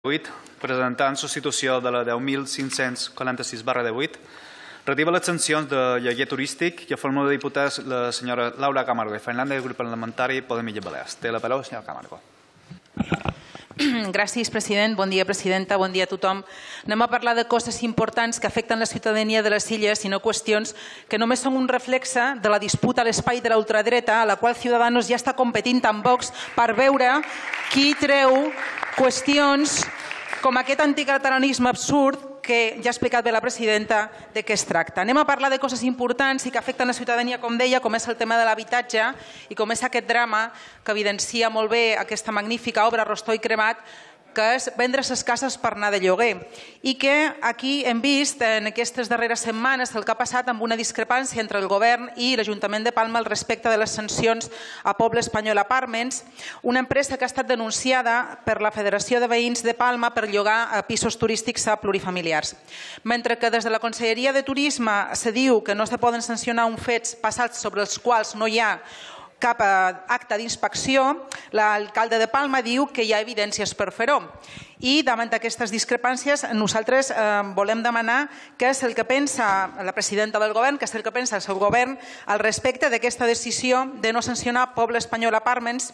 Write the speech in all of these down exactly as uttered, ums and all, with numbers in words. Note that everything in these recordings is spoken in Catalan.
vuit, presentant substitució de la deu mil cinc-cents quaranta-sis barra divuit, relativa a les sancions de lloguer turístic i a forma de diputats la senyora Laura Camargo i Fernández del grup parlamentari Podem Illes Balears. Té la paraula, senyora Camargo. Gràcies, president. Bon dia, presidenta. Bon dia a tothom. Anem a parlar de coses importants que afecten la ciutadania de les illes i no qüestions que només són un reflexe de la disputa a l'espai de la ultradreta, a la qual Ciudadanos ja està competint amb Vox per veure qui treu qüestions com aquest anticatalanisme absurd que ja ha explicat bé la presidenta de què es tracta. Anem a parlar de coses importants i que afecten la ciutadania, com deia, com és el tema de l'habitatge i com és aquest drama que evidencia molt bé aquesta magnífica obra Rostoi Cremat, que és vendre les cases per anar de lloguer. I que aquí hem vist en aquestes darreres setmanes el que ha passat amb una discrepància entre el govern i l'Ajuntament de Palma al respecte de les sancions a Poble Espanyol Apartments, una empresa que ha estat denunciada per la Federació de Veïns de Palma per llogar a pisos turístics a plurifamiliars. Mentre que des de la Conselleria de Turisme se diu que no se poden sancionar uns fets passats sobre els quals no hi ha cap acte d'inspecció, l'alcalde de Palma diu que hi ha evidències per fer-ho. I davant d'aquestes discrepàncies nosaltres volem demanar què és el que pensa la presidenta del govern, què és el que pensa el seu govern al respecte d'aquesta decisió de no sancionar Poble Espanyol Apartments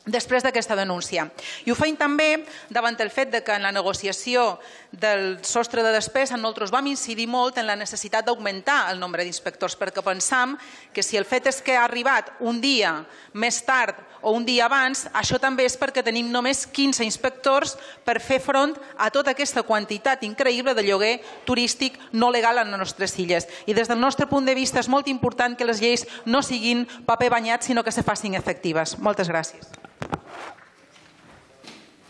després d'aquesta denúncia. I ho feim també davant el fet que en la negociació del sostre de despesa nosaltres vam incidir molt en la necessitat d'augmentar el nombre d'inspectors, perquè pensam que si el fet és que ha arribat un dia més tard o un dia abans, això també és perquè tenim només quinze inspectors per fer front a tota aquesta quantitat increïble de lloguer turístic no legal a les nostres illes. I des del nostre punt de vista és molt important que les lleis no siguin paper banyat, sinó que se facin efectives. Moltes gràcies.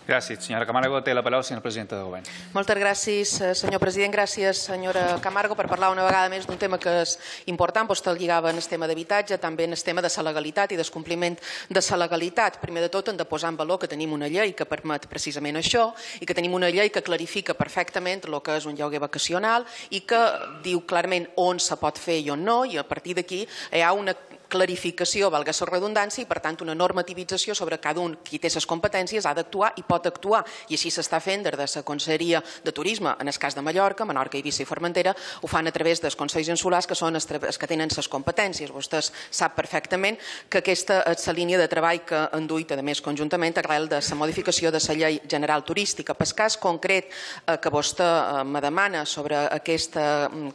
Gràcies. Senyora Camargo, té la paraula, senyora presidenta del govern. Moltes gràcies, senyor president. Gràcies, senyora Camargo, per parlar una vegada més d'un tema que és important. Vostè el lligava en el tema d'habitatge, també en el tema de la legalitat i descompliment de la legalitat. Primer de tot, hem de posar en valor que tenim una llei que permet precisament això i que tenim una llei que clarifica perfectament el que és un lloguer vacacional i que diu clarament on se pot fer i on no, i a partir d'aquí hi ha una clarificació, valga la redundància, i per tant una normativització sobre cada un qui té les competències ha d'actuar i pot actuar. I així s'està fent des de la Conselleria de Turisme, en el cas de Mallorca, Menorca, Eivissa i Formentera, ho fan a través dels Consells Insulars, que són els que tenen les competències. Vostè sap perfectament que aquesta és la línia de treball que han duit, a més, conjuntament arrel de la modificació de la Llei General Turística. Per cas concret que vostè me demana sobre aquest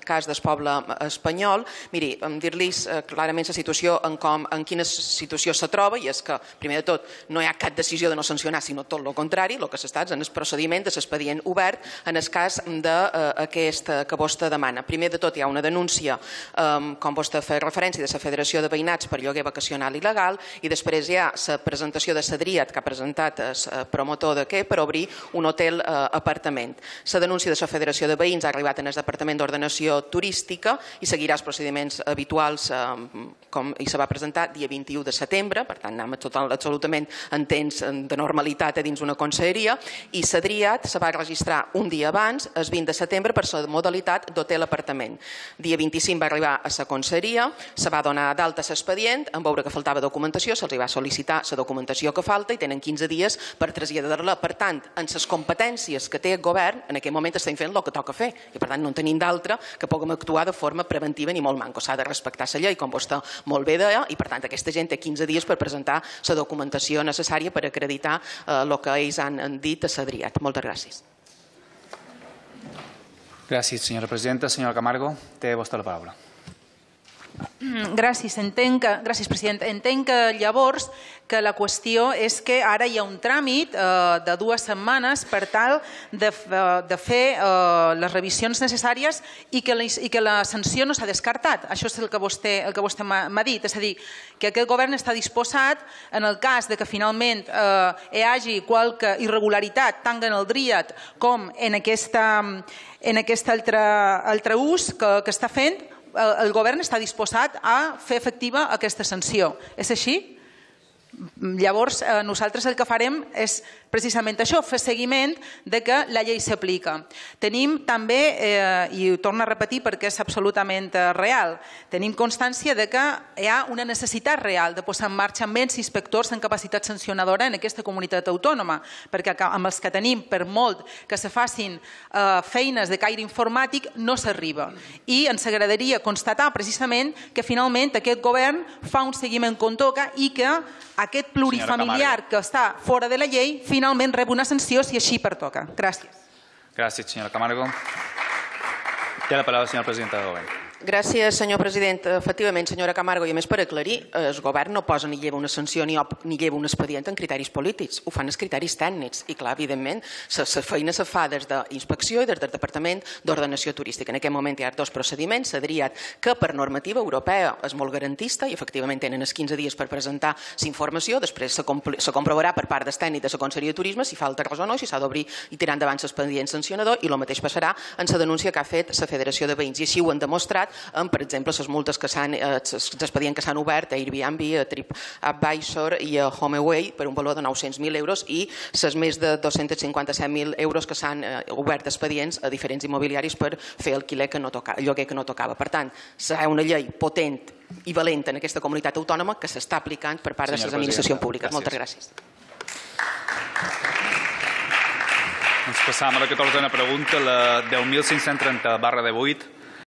cas del poble espanyol, miri, dir-los clarament la situació En, com, en quina situació se troba, i és que, primer de tot, no hi ha cap decisió de no sancionar, sinó tot el contrari, el que s'està en el procediment de l'expedient obert en el cas d'aquest que vostè demana. Primer de tot, hi ha una denúncia, um, com vostè fa referència, de la Federació de Veïnats per lloguer vacacional il·legal, i després hi ha la presentació de Sadriat, que ha presentat el promotor de què per obrir un hotel uh, apartament. La denúncia de la Federació de Veïns ha arribat en el Departament d'Ordenació Turística i seguirà els procediments habituals um, com i se va presentar dia vint-i-u de setembre, per tant anem total, absolutament en temps de normalitat a dins una conselleria, i Sadriat se va registrar un dia abans, el vint de setembre, per la modalitat d'hotel apartament. Dia vint-i-cinc va arribar a la conselleria, se va donar d'alta l'expedient, en veure que faltava documentació, se'ls va sol·licitar la documentació que falta i tenen quinze dies per traslladar-la. Per tant, en les competències que té el govern, en aquest moment estem fent el que toca fer, i per tant no en tenim d'altra que puguem actuar de forma preventiva ni molt manco. S'ha de respectar la llei, com vostè molt bé deia, i per tant aquesta gent té quinze dies per presentar la documentació necessària per acreditar el que ells han dit a Sadriat. Moltes gràcies. Gràcies, senyora presidenta. Senyora Camargo, té vostè la paraula. Gràcies. Entenc que, gràcies, president. Entenc que llavors que la qüestió és que ara hi ha un tràmit eh, de dues setmanes per tal de, de fer eh, les revisions necessàries i que, la, i que la sanció no s'ha descartat. Això és el que vostè, el que vostè m'ha dit. És a dir, que aquest govern està disposat, en el cas de que finalment eh, hi hagi qualque irregularitat tant en el DRIAT com en, aquesta, en aquest altre, altre ús que, que està fent, el govern està disposat a fer efectiva aquesta sanció. És així? Llavors, nosaltres el que farem és precisament això, fer seguiment de que la llei s'aplica. Tenim també, eh, i ho torno a repetir perquè és absolutament real, tenim constància de que hi ha una necessitat real de posar en marxa menys inspectors en capacitat sancionadora en aquesta comunitat autònoma, perquè amb els que tenim, per molt que se facin eh, feines de caire informàtic, no s'arriba. I ens agradaria constatar precisament que finalment aquest govern fa un seguiment com toca i que aquest plurifamiliar que està fora de la llei finalment rep una sanció si així pertoca. Gràcies. Gràcies, senyora Camargo. Té la paraula la senyora presidenta del govern. Gràcies, senyor president. Efectivament, senyora Camargo, i a més per aclarir, el govern no posa ni lleva una sanció ni, ni lleva un expedient en criteris polítics, ho fan els criteris tècnics i clar, evidentment, la feina se fa des d'inspecció i des del Departament d'Ordenació Turística. En aquest moment hi ha dos procediments, s'ha triat que per normativa europea és molt garantista i efectivament tenen els quinze dies per presentar la informació, després se, se comprovarà per part del tècnic de la Conselleria de Turisme si falta cosa o no, si s'ha d'obrir i tirar endavant l'expedient sancionador i el mateix passarà en la denúncia que ha fet la Federació de Veïns i així ho han demostrat amb, per exemple, les multes que s'han, els expedients que s'han obert a Airbnb, a TripAdvisor i a HomeAway per un valor de nou-cents mil euros i les més de dos-cents cinquanta-set mil euros que s'han obert expedients a diferents immobiliaris per fer alquiler que no tocava, lloguer que no tocava. Per tant, serà una llei potent i valenta en aquesta comunitat autònoma que s'està aplicant per part de les administracions públiques. Moltes gràcies. Ens passam a la catorzena pregunta, la deu mil cinc-cents trenta barra divuit.